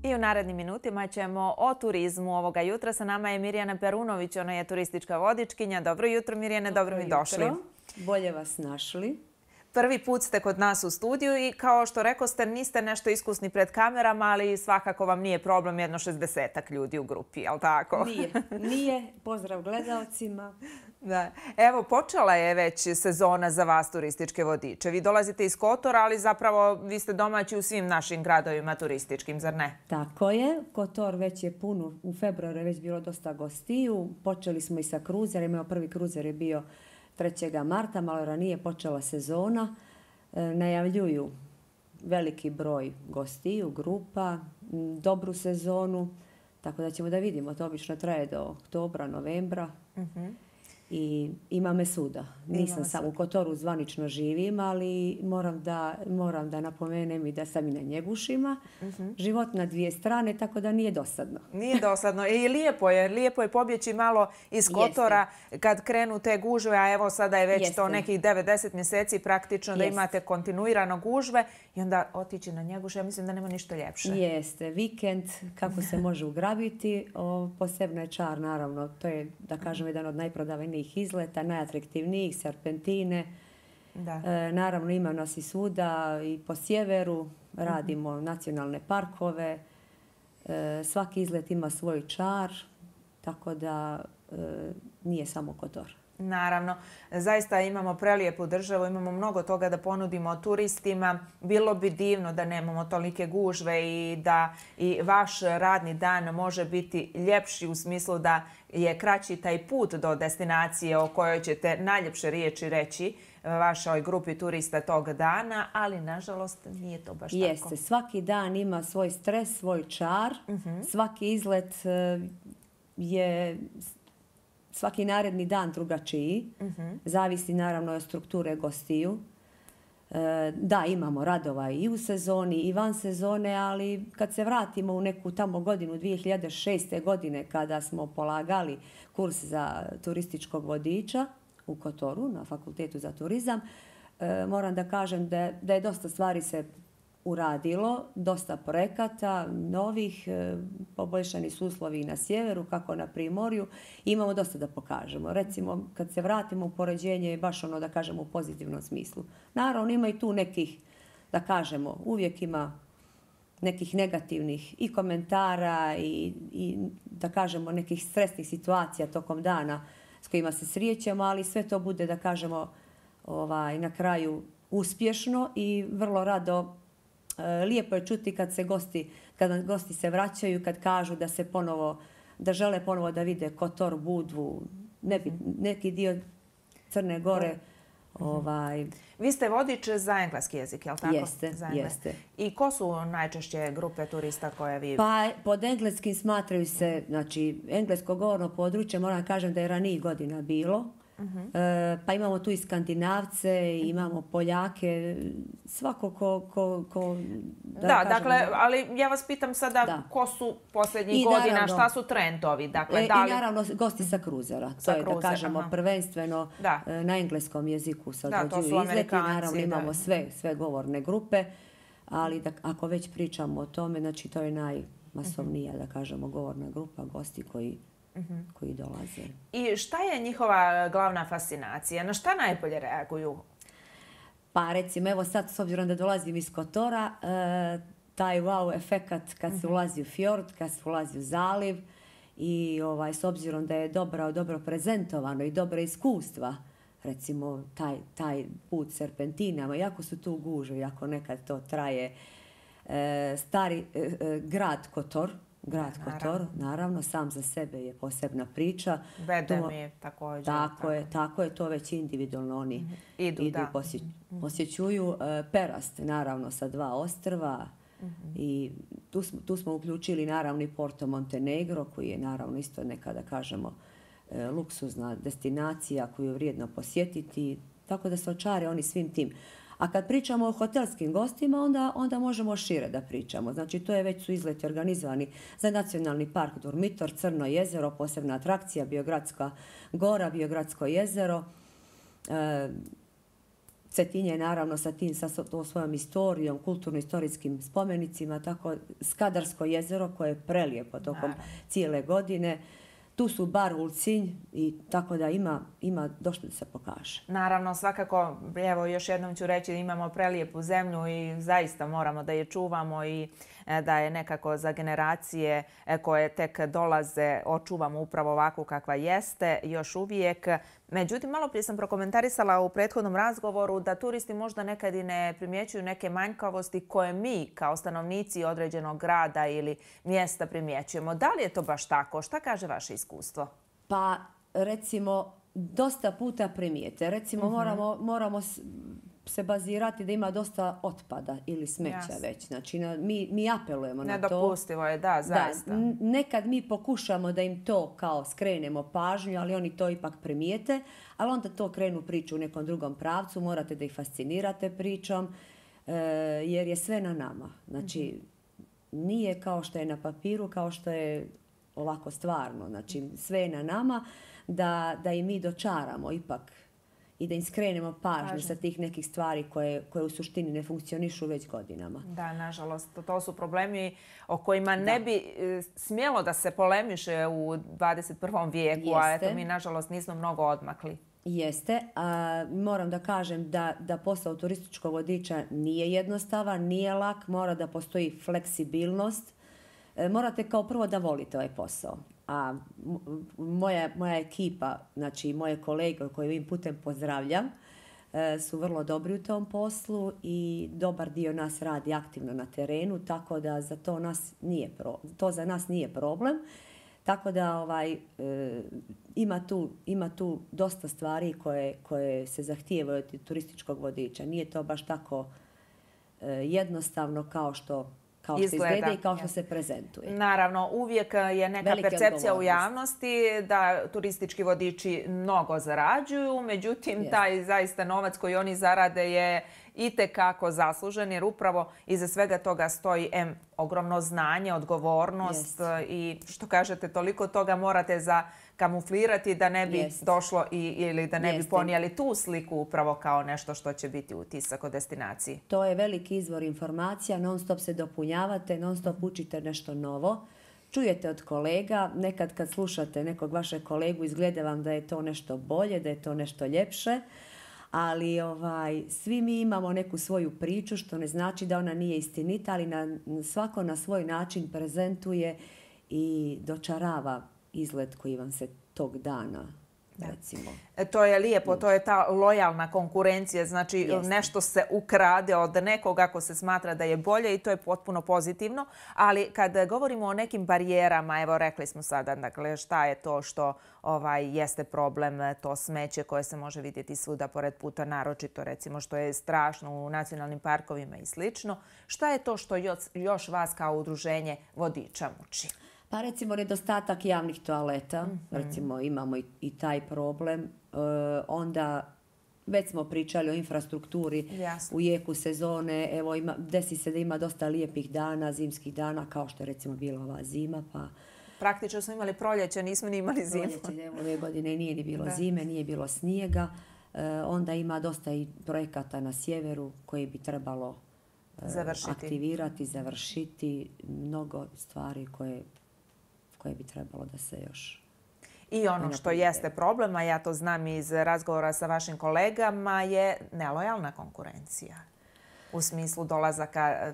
I u narednim minutima ćemo o turizmu ovoga jutra. Sa nama je Mirjana Perunović, ona je turistička vodičkinja. Dobro jutro Mirjane, dobro mi došli. Bolje vas našli. Prvi put ste kod nas u studiju i kao što rekoste, niste nešto iskusni pred kamerama, ali svakako vam nije problem jedno 60-ak ljudi u grupi, jel tako? Nije. Pozdrav gledalcima. Da. Evo, počela je već sezona za vas turističke vodiče. Vi dolazite iz Kotora, ali zapravo vi ste domaći u svim našim gradovima turističkim, zar ne? Tako je. Kotor već je pun. U februaru je već bilo dosta gostiju. Počeli smo i sa kruzerima. Prvi kruzer je bio 3. marta, malo ranije počela sezona. Najavljuju veliki broj gostiju, grupa, dobru sezonu. Tako da ćemo da vidimo. To obično traje do oktobra, novembra. I ima me svuda. Nisam samo u Kotoru zvanično živim, ali moram da napomenem i da sam i na Njegušima. Život na dvije strane, tako da nije dosadno. Nije dosadno. I lijepo je pobjeći malo iz Kotora kad krenu te gužve, a evo sada je već to nekih 9-10 mjeseci praktično da imate kontinuirano gužve i onda otići na Njeguš. Ja mislim da nema ništa ljepše. Jeste. Vikend, kako se može ugrabiti, posebno je čar, naravno. To je, da kažem, jedan od najprodavanijih izleta, najatraktivnijih, serpentine. Naravno ima nas i svuda i po sjeveru, radimo nacionalne parkove. Svaki izlet ima svoj čar, tako da nije samo Kotor. Naravno, zaista imamo prelijepu državu, imamo mnogo toga da ponudimo turistima. Bilo bi divno da nemamo tolike gužve i da i vaš radni dan može biti ljepši u smislu da je kraći taj put do destinacije o kojoj ćete najljepše riječi reći vašoj grupi turista tog dana, ali nažalost nije to baš tako. Jeste, svaki dan ima svoj stres, svoj čar. Svaki izlet je svaki naredni dan drugačiji. Zavisi naravno od strukture gostiju. Da, imamo radova i u sezoni i van sezone, ali kad se vratimo u neku tamo godinu 2006. godine kada smo polagali kurs za turističkog vodiča u Kotoru na Fakultetu za turizam, moram da kažem da je dosta stvari se uradilo, dosta projekata, novih, poboljšani su uslovi i na sjeveru, kako na primorju. Imamo dosta da pokažemo. Recimo, kad se vratimo u poređenje je baš ono da kažemo u pozitivnom smislu. Naravno, ima i tu nekih, da kažemo, uvijek ima nekih negativnih i komentara i da kažemo nekih stresnih situacija tokom dana s kojima se srijećemo, ali sve to bude, da kažemo, na kraju uspješno i vrlo rado. Lijepo je čuti kad gosti se vraćaju, kad kažu da žele ponovo da vide Kotor, Budvu, neki dio Crne Gore. Vi ste vodič za engleski jezik, je li tako? Jeste. I ko su najčešće grupe turista koje vi... Pa pod engleskim smatraju se, znači, englesko govorno područje, moram kažem da je ranijih godina bilo. Pa imamo tu i Skandinavce, imamo Poljake, svako ko da, dakle, ali ja vas pitam sada ko su posljednjih godina, šta su trendovi? I naravno gosti sa kruzera, to je da kažemo prvenstveno na engleskom jeziku se određuju izleti, naravno imamo sve govorne grupe, ali ako već pričamo o tome, znači to je najmasovnija, da kažemo, govorna grupa gosti koji dolaze. I šta je njihova glavna fascinacija? Na šta najbolje reaguju? Pa recimo, evo sad s obzirom da dolazim iz Kotora, taj wow efekat kad se ulazi u fjord, kad se ulazi u zaliv i s obzirom da je dobro prezentovano i dobra iskustva, recimo taj put serpentinama, jako su tu gužve, jako nekad to traje. Stari grad Kotor, naravno, sam za sebe je posebna priča. Bedemi također. Tako je, to već individualno oni idu posjećuju. Perast, naravno, sa 2 ostrva. I tu smo uključili naravno i Porto Montenegro, koji je naravno isto neka, da kažemo, luksuzna destinacija koju je vrijedno posjetiti. Tako da se očare oni svim tim. A kad pričamo o hotelskim gostima, onda možemo šire da pričamo. Znači, to je već su izleti organizovani za Nacionalni park Durmitor, Crno jezero, posebna atrakcija, Biogradska gora, Biogradsko jezero. Cetinje naravno sa svojom historijom, kulturno-istorijskim spomenicima, tako Skadarsko jezero koje je prelijepo tokom cijele godine. Tu su bar Ulcinj i tako da ima došto da se pokaže. Naravno, svakako, evo još jednom ću reći da imamo prelijepu zemlju i zaista moramo da je čuvamo i da je nekako za generacije koje tek dolaze očuvamo upravo ovakvu kakva jeste još uvijek. Međutim, malo prije sam prokomentarisala u prethodnom razgovoru da turisti možda nekad i ne primjećuju neke manjkavosti koje mi kao stanovnici određenog grada ili mjesta primjećujemo. Da li je to baš tako? Šta kaže vaše iskustvo? Pa recimo dosta puta primijete. Recimo moramo se bazirati da ima dosta otpada ili smeća već. Znači mi apelujemo na to. Nedopustivo je, da, zaista. Nekad mi pokušamo da im to kao skrenemo pažnju, ali oni to ipak primijete, ali onda to krenu priču u nekom drugom pravcu, morate da ih fascinirate pričom, jer je sve na nama. Znači, nije kao što je na papiru, kao što je ovako stvarno. Znači, sve je na nama da i mi dočaramo ipak i da im skrenemo pažnju sa tih nekih stvari koje u suštini ne funkcionišu već godinama. Da, nažalost, to su problemi o kojima ne bi smjelo da se polemiše u 21. vijeku, a eto mi nažalost nismo mnogo odmakli. Jeste. Moram da kažem da posao turističkog vodiča nije jednostavan, nije lak, mora da postoji fleksibilnost. Morate kao prvo da volite ovaj posao. A moja ekipa, znači moje kolege koje ovim putem pozdravljam, su vrlo dobri u tom poslu i dobar dio nas radi aktivno na terenu, tako da to za nas nije problem. Tako da ima tu dosta stvari koje se zahtijevaju od turističkog vodiča. Nije to baš tako jednostavno kao što izgleda i kao što se prezentuje. Naravno, uvijek je neka percepcija u javnosti da turistički vodiči mnogo zarađuju, međutim taj zaista novac koji oni zarade je itekako zaslužen jer upravo iza svega toga stoji ogromno znanje, odgovornost i što kažete toliko toga morate zakamuflirati da ne bi došlo ili da ne bi ponijeli tu sliku upravo kao nešto što će biti utisak o destinaciji. To je veliki izvor informacija, non stop se dopunjavate, non stop učite nešto novo. Čujete od kolega, nekad kad slušate nekog vašeg kolegu izgleda vam da je to nešto bolje, da je to nešto ljepše. Ali svi mi imamo neku svoju priču, što ne znači da ona nije istinita, ali svako na svoj način prezentuje i dočarava izgled koji vam se tog dana, recimo. To je lijepo, to je ta lojalna konkurencija, znači nešto se ukrade od nekog ako se smatra da je bolje i to je potpuno pozitivno, ali kad govorimo o nekim barijerama, evo rekli smo sada, dakle šta je to što jeste problem, to smeće koje se može vidjeti svuda pored puta, naročito recimo što je strašno u nacionalnim parkovima i slično. Šta je to što još vas kao udruženje vodiča muči? Pa recimo nedostatak javnih toaleta, recimo imamo i taj problem. Onda već smo pričali o infrastrukturi u jeku sezone. Evo desi se da ima dosta lijepih dana, zimskih dana kao što je recimo bila ova zima. Praktično smo imali proljeće, nismo ni imali zimu. Proljeće, ove godine nije ni bilo zime, nije bilo snijega. Onda ima dosta i projekata na sjeveru koji bi trebalo aktivirati, završiti. Mnogo stvari koje bi trebalo da se još... I ono što jeste problem, a ja to znam iz razgovora sa vašim kolegama, je nelojalna konkurencija. U smislu dolazaka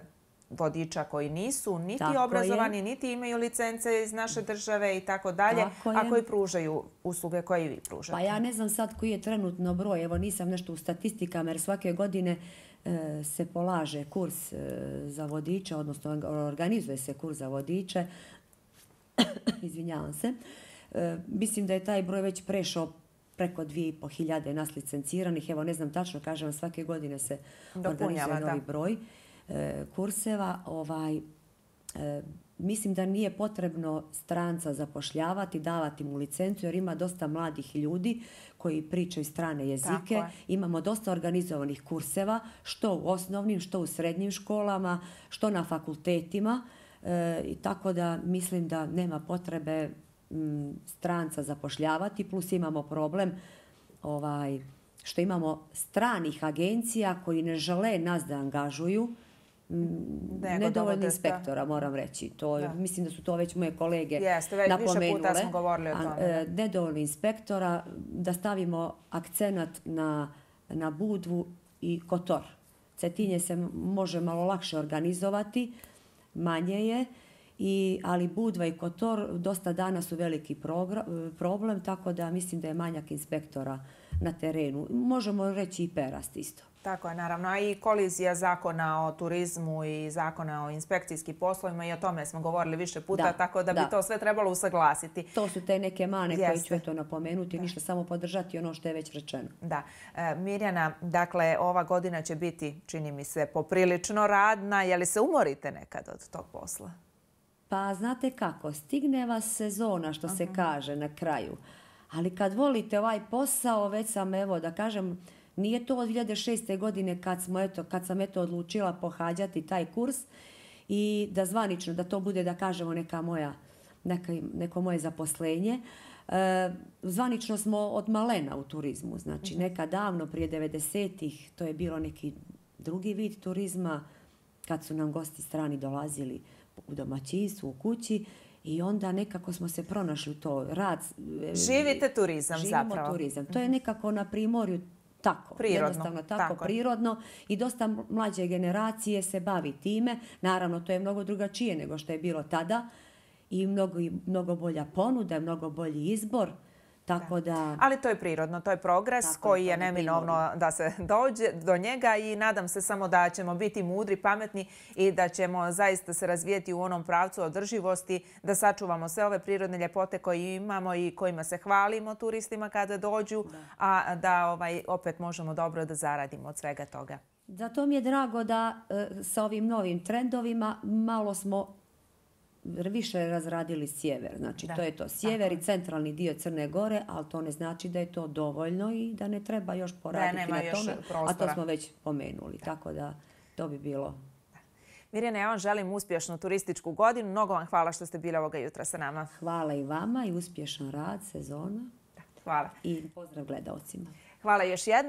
vodiča koji nisu niti obrazovani, niti imaju licence iz naše države i tako dalje, a koji pružaju usluge koje i vi pružate. Pa ja ne znam sad koji je trenutno broj, evo nisam nešto u statistikama jer svake godine se polaže kurs za vodiče, odnosno organizuje se kurs za vodiče. Izvinjavam se. Mislim da je taj broj već prešao preko 2500 nas licenciranih. Evo ne znam tačno, kažem, svake godine se organizuje novi broj kurseva. Mislim da nije potrebno stranca zapošljavati, davati mu licencu jer ima dosta mladih ljudi koji pričaju strane jezike. Imamo dosta organizovanih kurseva, što u osnovnim, što u srednjim školama, što na fakultetima. I tako da mislim da nema potrebe stranca zapošljavati, plus imamo problem što imamo stranih agencija koji ne žele nas da angažuju, nedovoljno inspektora, moram reći. Mislim da su to već moje kolege napomenule. Više puta smo govorili o tome. Nedovoljno inspektora, da stavimo akcenat na Budvu i Kotor. Cetinje se može malo lakše organizovati, manje je, ali Budva i Kotor dosta dana su veliki problem, tako da mislim da je manjak inspektora na terenu. Možemo reći i Perast isto. Tako je, naravno. A i kolizija zakona o turizmu i zakona o inspekcijskim poslovima, i o tome smo govorili više puta, tako da bi to sve trebalo usaglasiti. To su te neke mane koje ću eto napomenuti, ništa samo podržati ono što je već rečeno. Da. Mirjana, dakle, ova godina će biti, čini mi se, poprilično radna. Je li se umorite nekad od tog posla? Pa znate kako, stigne vas sezona, što se kaže na kraju. Ali kad volite ovaj posao, već sam, evo da kažem, nije to od 2006. godine kad sam odlučila pohađati taj kurs i da zvanično, da to bude, da kažemo, neko moje zaposlenje. Zvanično smo od malena u turizmu. Znači, nekad davno, prije 90-ih, to je bilo neki drugi vid turizma, kad su nam gosti strani dolazili u domaćinstvu, u kući. I onda nekako smo se pronašli u to. Živite turizam zapravo. Živimo turizam. To je nekako na Primorju tako. Jednostavno tako, prirodno. I dosta mlađe generacije se bavi time. Naravno, to je mnogo drugačije nego što je bilo tada. I mnogo bolja ponuda, mnogo bolji izbor. Tako da... Ali to je prirodno, to je progres koji je neminovno da se dođe do njega i nadam se samo da ćemo biti mudri, pametni i da ćemo zaista se razvijeti u onom pravcu održivosti, da sačuvamo sve ove prirodne ljepote koje imamo i kojima se hvalimo turistima kada dođu, a da opet možemo dobro da zaradimo od svega toga. Zato mi je drago da sa ovim novim trendovima malo smo više razradili sjever. Znači, to je to. Sjever i centralni dio Crne Gore, ali to ne znači da je to dovoljno i da ne treba još poraditi na tome. A to smo već pomenuli. Tako da to bi bilo. Mirjana, ja vam želim uspješnu turističku godinu. Mnogo vam hvala što ste bili ovoga jutra sa nama. Hvala i vama i uspješan rad, sezona. Hvala. I pozdrav gledalcima. Hvala još jednom.